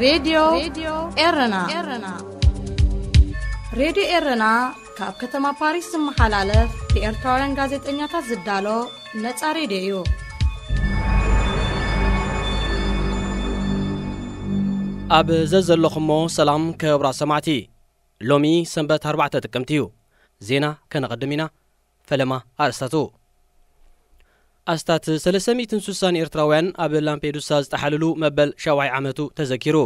ሬድዮ ኤረና። ሬድዮ ኤረና ካብ ከተማ ፓሪስ ዝመሓላለፍ ብኤርትራውያን ጋዜጠኛታት ዝዳሎ ነጻ ሬድዮ እዩ። ኣብ ዘዘለኹሞ ሰላም ክቡራት ሰማዕቲ። ሎሚ ሰንበት ኣርባዕተ ጥቅምቲ እዩ። ዜና ከነቐድም ኢና። ፈለማ ኣርእስታቱ። ኣስታት ሰለስተ ሚእትን ስሳን ኤርትራውያን ኣብ ላምፔዱሳ ዝጠሓልሉ መበል ሻውዓይ ዓመቱ ተዘኪሩ።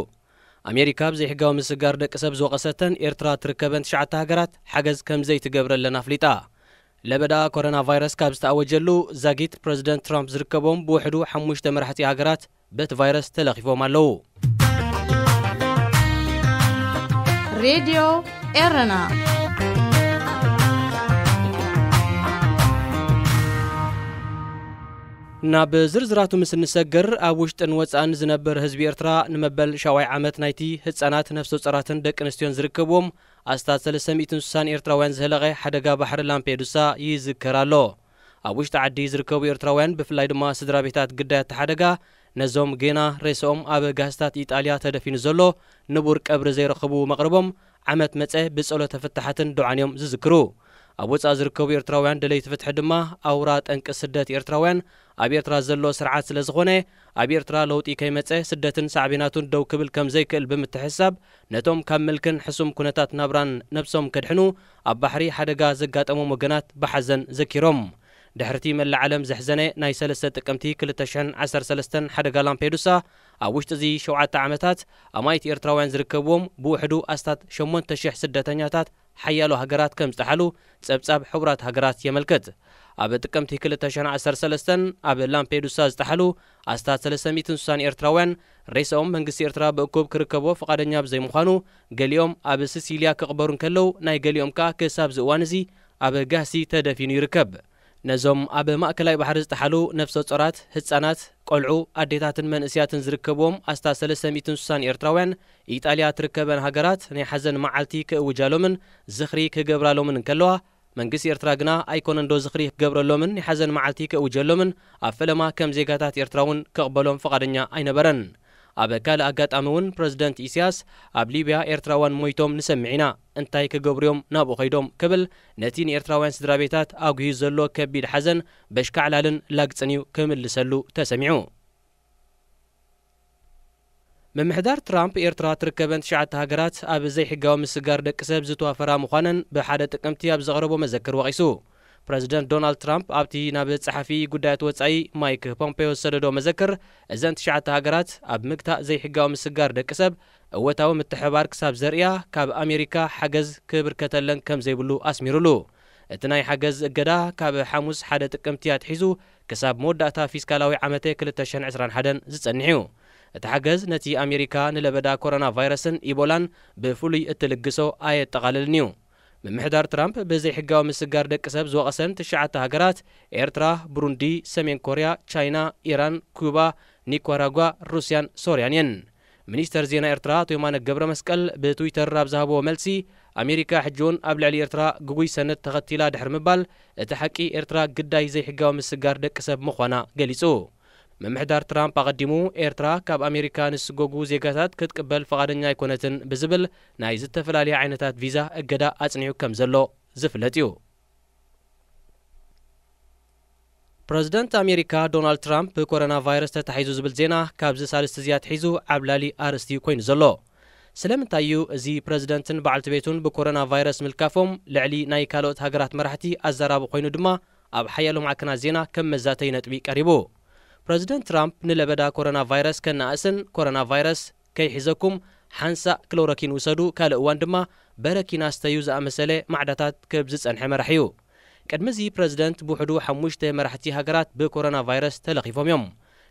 ኣሜሪካ ብዘይሕጋዊ ምስጋር ደቂ ሰብ ዝወቐሰተን ኤርትራ ትርከበን ትሽዓተ ሃገራት ሓገዝ ከም ዘይትገብረለን ኣፍሊጣ። ለበዳ ኮሮና ቫይረስ ካብ ዝተኣወጀሉ ዛጊት ፕረዚደንት ትራምፕ ዝርከቦም ብውሕዱ ሓሙሽተ መራሕቲ ሃገራት በቲ ቫይረስ ተለኺፎም ኣለዉ። ሬድዮ ኤረና። ናብ ዝርዝራቱ ምስ እንሰግር፣ ኣብ ውሽጥን ወጻእን ዝነብር ህዝቢ ኤርትራ ንመበል ሻውዓይ ዓመት ናይቲ ህጻናት፣ ነፍሰ ጾራትን ደቂ ኣንስትዮን ዝርከብዎም ኣስታት ሰለስተ ሚእትን ስሳን ኤርትራውያን ዝህለቐ ሓደጋ ባሕሪ ላምፔዱሳ ይዝከር ኣሎ። ኣብ ውሽጢ ዓዲ ዝርከቡ ኤርትራውያን፣ ብፍላይ ድማ ስድራ ቤታት ግዳያት እቲ ሓደጋ፣ ነዞም ጌና ሬስኦም ኣብ ጋህስታት ኢጣልያ ተደፊኑ ዘሎ ንቡር ቀብሪ ዘይረኸቡ መቕርቦም፣ ዓመት መጸ ብጸሎተ ፍታሓትን ዱዓን እዮም ዝዝክሩ። ኣብ ወጻኢ ዝርከቡ ኤርትራውያን ደለይቲ ፍትሒ ድማ፣ ኣውራ ጠንቂ ስደት ኤርትራውያን ኣብ ኤርትራ ዘሎ ስርዓት ስለ ዝኾነ፣ ኣብ ኤርትራ ለውጢ ከይመጸ ስደትን ሳዕቤናቱን ደው ክብል ከም ዘይክእል ብምትሕስሳብ፣ ነቶም ካብ ምልክን ሕሱም ኩነታት ናብራን ነብሶም ከድሕኑ ኣብ ባሕሪ ሓደጋ ዘጋጠሞም ወገናት ብሓዘን ዘኪሮም። ድሕርቲ መላእ ዓለም ዘሕዘነ ናይ ሰለስተ ጥቅምቲ ክልተ ሽሕን ዓሰርተ ሰለስተን ሓደጋ ላምፔዱሳ፣ ኣብ ውሽጢ እዚ ሸውዓተ ዓመታት ኣማኢት ኤርትራውያን ዝርከብዎም ብውሕዱ ኣስታት ሸሞንተ ሽሕ ስደተኛታት ሓያሎ ሃገራት ከም ዝጠሓሉ ጸብጻብ ሕቡራት ሃገራት የመልክት። ኣብ ጥቅምቲ ክልተ ሽሕን ዓሰርተ ሰለስተን ኣብ ላምፔዱሳ ዝጠሓሉ ኣስታት ሰለስተ ሚእትን ስሳን ኤርትራውያን ሬስኦም መንግስቲ ኤርትራ ብእኩብ ክርከቦ ፍቓደኛ ብዘይምዃኑ፣ ገሊኦም ኣብ ሲሲልያ ክቕበሩ እንከለዉ፣ ናይ ገሊኦም ከኣ ክሳብ እዚ እዋን እዚ ኣብ ጋህሲ ተደፊኑ ይርከብ። ነዞም ኣብ ማእከላይ ባሕሪ ዝጠሓሉ ነፍሰ ጾራት፣ ህጻናት፣ ቆልዑ፣ ኣዴታትን መንእስያትን ዝርከብዎም ኣስታት ሰለስተ ሚእትን ስሳን ኤርትራውያን፣ ኢጣልያ ትርከበን ሃገራት ናይ ሓዘን መዓልቲ ክእውጃሎምን ዝኽሪ ክገብራሎምን እንከለዋ፣ መንግስቲ ኤርትራ ግና ኣይኮነንዶ ዝኽሪ ክገብረሎምን ናይ ሓዘን መዓልቲ ክእውጀሎምን ኣብ ፈለማ ከም ዜጋታት ኤርትራ እውን ክቕበሎም ፍቓደኛ ኣይነበረን። ኣብ ካልእ ኣጋጣሚ እውን ፕረዚደንት ኢሳያስ፣ ኣብ ሊብያ ኤርትራውያን ሞይቶም ንሰምዕ ኢና፣ እንታይ ክገብሩ እዮም ናብኡ ኸይዶም ክብል ነቲ ንኤርትራውያን ስድራ ቤታት ኣጉህዩ ዘሎ ከቢድ ሓዘን በሽካዕላልን ላግጽን እዩ ክምልሰሉ ተሰሚዑ። ምምሕዳር ትራምፕ ኤርትራ ትርከበን ትሽዓተ ሃገራት ኣብ ዘይሕጋዊ ምስጋር ደቂ ሰብ ዝተዋፈራ ምዃነን ብሓደ ጥቅምቲ ኣብ ዘቕረቦ መዘክር ወቒሱ። ፕረዚደንት ዶናልድ ትራምፕ ኣብቲ ናብ ጸሓፊ ጉዳያት ወጻኢ ማይክ ፖምፔዮ ዝሰደዶ መዘክር፣ እዘን ትሽዓተ ሃገራት ኣብ ምግታእ ዘይሕጋዊ ምስጋር ደቂ ሰብ እወታዊ ምትሕብባር ክሳብ ዘርእያ ካብ ኣሜሪካ ሓገዝ ክብርከተለን ከም ዘይብሉ ኣስሚሩሉ። እቲ ናይ ሓገዝ እገዳ ካብ ሓሙስ ሓደ ጥቅምቲ ኣትሒዙ ክሳብ መወዳእታ ፊስካላዊ ዓመተ ክልተ ሽሕን ዕስራን ሓደን ዝጸንሕ እዩ። እቲ ሓገዝ ነቲ ኣሜሪካ ንለበዳ ኮሮና ቫይረስን ኢቦላን ብፍሉይ እትልግሶ ኣየጠቓልልን እዩ። ምምሕዳር ትራምፕ ብዘይሕጋዊ ምስጋር ደቂ ሰብ ዝወቐሰን ትሽዓተ ሃገራት ኤርትራ፣ ብሩንዲ፣ ሰሜን ኮርያ፣ ቻይና፣ ኢራን፣ ኩባ፣ ኒካራጓ፣ ሩስያን ሶርያን እየን። ሚኒስተር ዜና ኤርትራ ኣቶ የማነ ገብረ መስቀል ብትዊተር ኣብ ዝሃብዎ መልሲ፣ ኣሜሪካ ሕጂ እውን ኣብ ልዕሊ ኤርትራ ግጉይ ሰነድ ተኸቲላ ድሕሪ ምባል፣ እቲ ሓቂ ኤርትራ ግዳይ ዘይሕጋዊ ምስጋር ደቂ ሰብ ምዃና ገሊጹ። ምምሕዳር ትራምፕ ኣቐዲሙ ኤርትራ ካብ ኣሜሪካ ንዝስጎጉ ዜጋታት ክትቅበል ፍቓደኛ ኣይኮነትን ብዝብል ናይ ዝተፈላለየ ዓይነታት ቪዛ እገዳ ኣጽኒዑ ከም ዘሎ ዝፍለጥ እዩ። ፕረዚደንት ኣሜሪካ ዶናልድ ትራምፕ ብኮሮና ቫይረስ ተታሒዙ ዝብል ዜና ካብዚ ሳልስቲ እዚ ኣትሒዙ ዓብላሊ ኣርእስቲ ኮይኑ ዘሎ። ስለምንታይ እዩ እዚ ፕረዚደንትን በዓልቲ ቤቱን ብኮሮና ቫይረስ ምልካፎም ልዕሊ ናይ ካልኦት ሃገራት መራሕቲ ኣዘራቢ ኮይኑ ድማ ኣብ ሓያሎ ማዕከናት ዜና ከም መዛተዪ ነጥቢ ቀሪቡ። ፕረዚደንት ትራምፕ ንለበዳ ኮሮና ቫይረስ ከነኣእስን ኮሮና ቫይረስ ከይሒዘኩም ሓንሳእ ክሎሮኪን ውሰዱ፣ ካልእ እዋን ድማ በረኪና ስተዩ ዝኣመሰለ ማዕዳታት ክህብ ዝጸንሐ መራሒ እዩ። ቅድሚ እዚ ፕረዚደንት ብውሕዱ ሓሙሽተ መራሕቲ ሃገራት ብኮሮና ቫይረስ ተለኺፎም እዮም።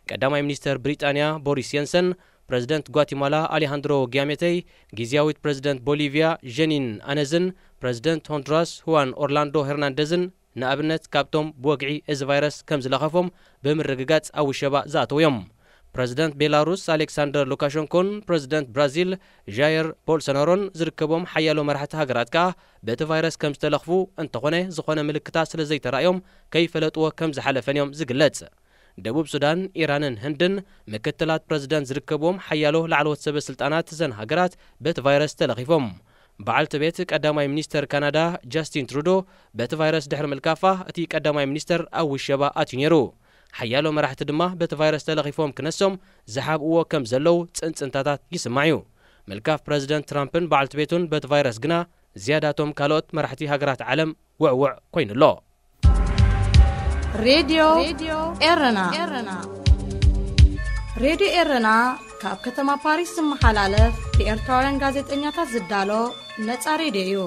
ቀዳማይ ሚኒስተር ብሪጣንያ ቦሪስ የንሰን፣ ፕረዚደንት ጓቲማላ ኣሌሃንድሮ ጊያሜተይ፣ ግዝያዊት ፕረዚደንት ቦሊቪያ ጀኒን ኣነዝን ፕረዚደንት ሆንዱራስ ሁዋን ኦርላንዶ ሄርናንደዝን ንኣብነት ካብቶም ብወግዒ እዚ ቫይረስ ከም ዝለኸፎም ብምርግጋጽ ኣብ ውሸባ ዝኣተዉ እዮም። ፕረዚደንት ቤላሩስ ኣሌክሳንደር ሉካሸንኮን ፕረዚደንት ብራዚል ዣየር ቦልሶናሮን ዝርከቦም ሓያሎ መራሕቲ ሃገራት ከኣ በቲ ቫይረስ ከም ዝተለኽፉ፣ እንተኾነ ዝኾነ ምልክታት ስለ ዘይተራእዮም ከይፈለጥዎ ከም ዝሓለፈን እዮም ዝግለጽ። ደቡብ ሱዳን፣ ኢራንን ህንድን ምክትላት ፕረዚደንት ዝርከብዎም ሓያሎ ላዕለዎት ሰበ ስልጣናት እዘን ሃገራት በቲ ቫይረስ ተለኺፎም። በዓልቲ ቤት ቀዳማይ ሚኒስተር ካናዳ ጃስቲን ትሩዶ በቲ ቫይረስ ድሕሪ ምልካፋ፣ እቲ ቀዳማይ ሚኒስተር ኣብ ውሸባ ኣትዩ ነይሩ። ሓያሎ መራሕቲ ድማ በቲ ቫይረስ ተለኺፎም ክነሶም ዝሓብእዎ ከም ዘለዉ ጽንጽንታታት ይስማዕ እዩ። ምልካፍ ፕረዚደንት ትራምፕን በዓልቲ ቤቱን በቲ ቫይረስ ግና ዝያዳቶም ካልኦት መራሕቲ ሃገራት ዓለም ውዕውዕ ኮይኑ ኣሎ። ሬድዮ ኤረና። ሬድዮ ኤረና ካብ ከተማ ፓሪስ ዝመሓላለፍ ብኤርትራውያን ጋዜጠኛታት ዝዳሎ ነጻ ሬድዮ እዩ።